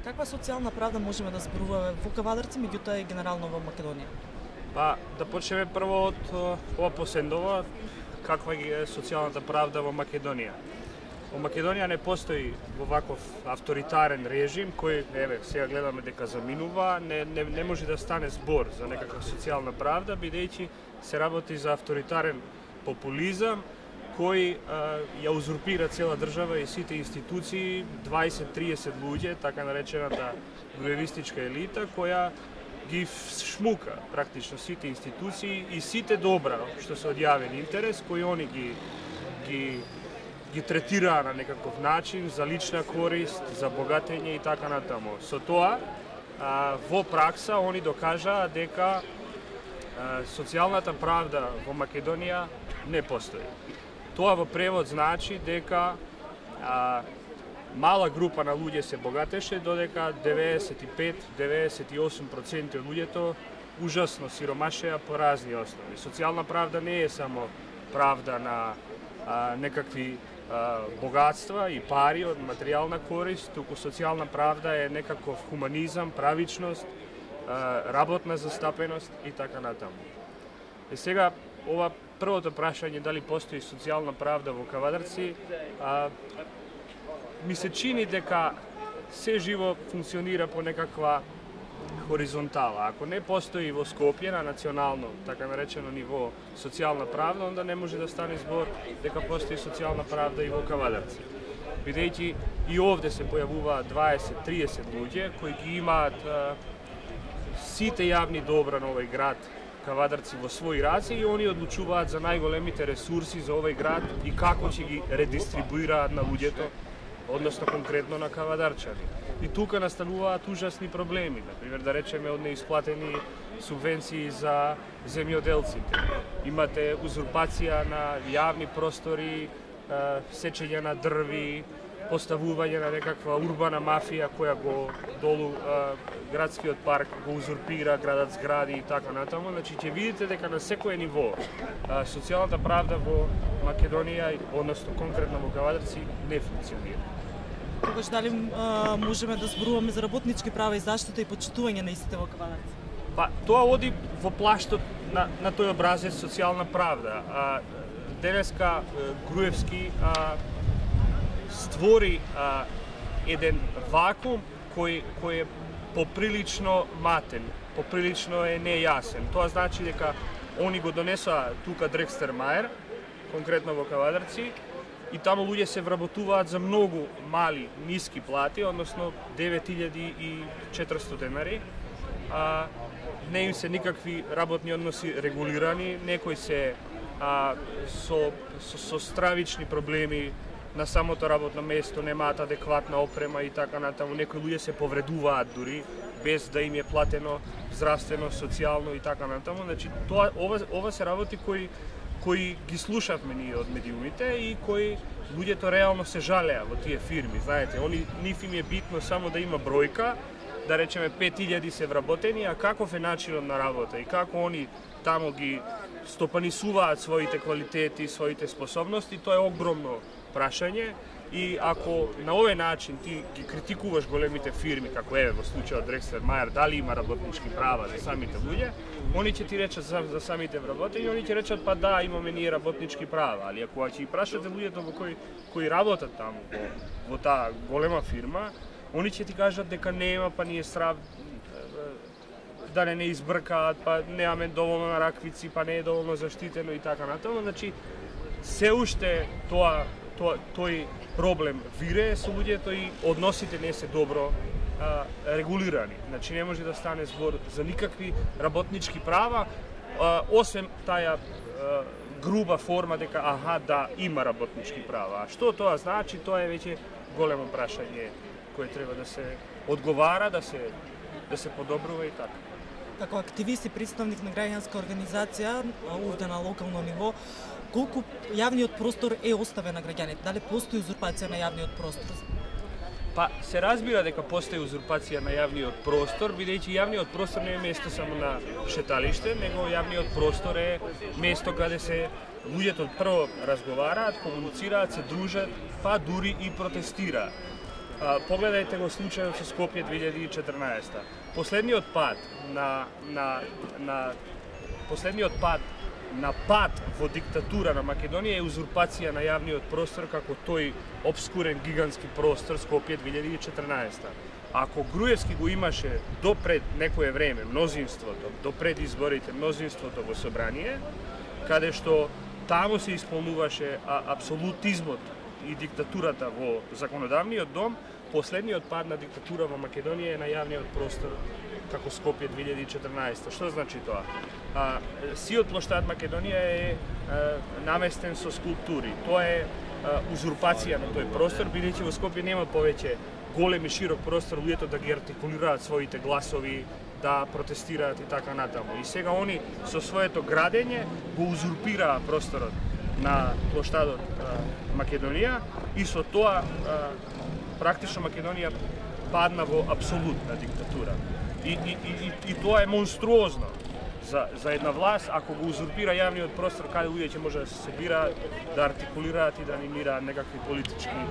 Каква социјална правда можеме да зборуваме во Кавадарци, меѓутоа и генерално во Македонија? Па, да почнеме прво од ова последново, каква е социјалната правда во Македонија. Во Македонија не постои во ваков авторитарен режим кој, сега гледаме дека заминува, не може да стане збор за некаква социјална правда, бидејќи се работи за авторитарен популизам кој ја узурпира цела држава и сите институции, 20-30 луѓе, така наречената груевистичка елита, која ги шмука практично сите институции и сите добра што се од јавен интерес, кои они ги третираа на некаков начин за лична корист, за богатење и така натаму. Со тоа, во пракса, они докажаа дека социјалната правда во Македонија не постои. Тоа во превод значи дека мала група на луѓе се богатеше, додека 95-98% од луѓето ужасно сиромашеа по разни основи. Социјална правда не е само правда на некакви богатства и пари од материјална корист, туку социјална правда е некаков хуманизам, правичност, работна застапеност и така натаму. И сега, ова првото прашање дали постои социјална правда во Кавадарци, ми се чини дека се живо функционира по некаква хоризонтала. Ако не постои во Скопје на национално, така наречено ниво социјална правда, онда не може да стане збор дека постои социјална правда и во Кавадарци. Бидејќи и овде се појавуваат 20-30 луѓе кои ги имаат сите јавни добра на овој град Кавадарци во своји раце и они одлучуваат за најголемите ресурси за овој град и како ќе ги редистрибуираат на луѓето, односно конкретно на кавадарчани. И тука настануваат ужасни проблеми, например да речеме од неисплатени субвенции за земјоделците. Имате узурпација на јавни простори, сечење на дрви, поставување на некаква урбана мафија која го долу градскиот парк го узурпира, градат згради и така натаму. Значи ќе видите дека на секое ниво социјалната правда во Македонија, односно конкретно во Кавадарци, не функционира. Тогаш дали можеме да зборуваме за работнички права и заштита и почитување на истите во Кавадарци? Па, тоа оди во плаштот на тој образец социјална правда. Денеска Груевски створи еден вакуум кој е поприлично матен, поприлично е нејасен. Тоа значи дека они го донесоа тука Дрекстер-Мајер, конкретно во Кавадарци, и таму луѓе се вработуваат за многу мали, ниски плати, односно 9400 денари. Не им се никакви работни односи регулирани, некои се со стравични проблеми на самото работно место, немаат адекватна опрема и така натаму. Некои луѓе се повредуваат дури без да им е платено здравствено, социјално и така натаму. Значи ова се работи кои ги слушавме ние од медиумите и кои луѓето реално се жалеа во тие фирми. Знаете, нив им е битно само да има бројка, да речеме 5000 се вработени, а каков е начинот на работа и како они таму ги стопанисуваат своите квалитети, своите способности, тоа е огромно прашање. И ако на овој начин ти ги критикуваш големите фирми, како во случајот Дрекстер-Мајер, дали има работнички права за самите луѓе, они ќе ти речат за самите вработени, они ќе речат па да, имаме ние работнички права, али ако ќе прашате луѓето кои работат таму во таа голема фирма, они ќе ти кажат дека нема, па ние страв да не избркаат, па немаме доволно на раквици, па не е доволно заштитено и така натаму. Значи се уште тој проблем вирее со луѓето и односите не се добро регулирани. Значи не може да стане збор за никакви работнички права, освен таа груба форма дека да, има работнички права. А што тоа значи, тоа е веќе големо прашање кое треба да се одговара, да се подобрува и така. Како активист и представник на граѓанска организација овде на локално ниво, колку јавниот простор е оставен на граѓаните? Дали постои узурпација на јавниот простор? Па се разбира дека постои узурпација на јавниот простор, бидејќи јавниот простор не е место само на шеталиште, него јавниот простор е место каде се луѓето прво разговараат, комуницираат, се дружат, па дури и протестираат. Погледајте го случајот со Скопје 2014. Последниот пат на пат во диктатура на Македонија е узурпација на јавниот простор како тој обскурен гигантски простор Скопје 2014. Ако Груевски го имаше допред некое време мнозинството, допред изборите мнозинството во собрание, каде што таму се исполнуваше апсолутизмот и диктатурата во законодавниот дом, последниот пад на диктатура во Македонија е на јавниот простор како Скопје 2014. Што значи тоа? Сиот плоштад Македонија е наместен со скулптури. Тоа е узурпација на тој простор, бидејќи во Скопје нема повеќе голем и широк простор луѓето да ги артикулираат своите гласови, да протестираат и така натаму. И сега они со своето градење го узурпираа просторот на плоштадот Македонија и со тоа практично Македонија падна во апсолутна диктатура. И тоа е монструозно за една власт, ако го узурпира јавниот простор каде луѓе ќе може да се собираат, да артикулираат и да анимираат некакви политички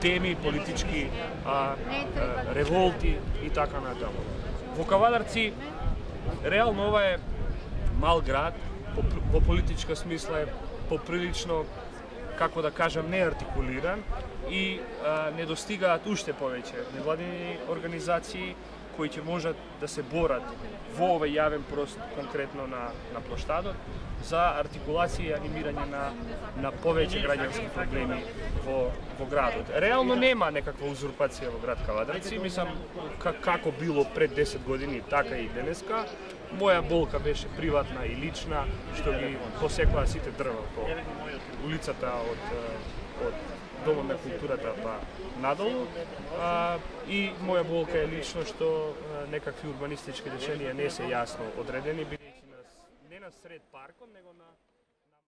теми, политички револти и така натаму. Во Кавадарци, реално ова е мал град, во политичка смисла е поприлично, како да кажам, неартикулиран и не достигаат уште повеќе невладини организации кои ќе можат да се борат во овој јавен простор, конкретно на плоштадот, за артикулација и анимирање на повеќе граѓански проблеми во градот. Реално нема некаква узурпација во град Кавадарци, мислам како било пред 10 години, така и денеска. Моја болка беше приватна и лична, што ги посекоа сите дрва по улицата од Домот на културата па надолу. И моја болка е лично што некакви урбанистички решенија не се јасно одредени, бидејќи не на сред паркот, него на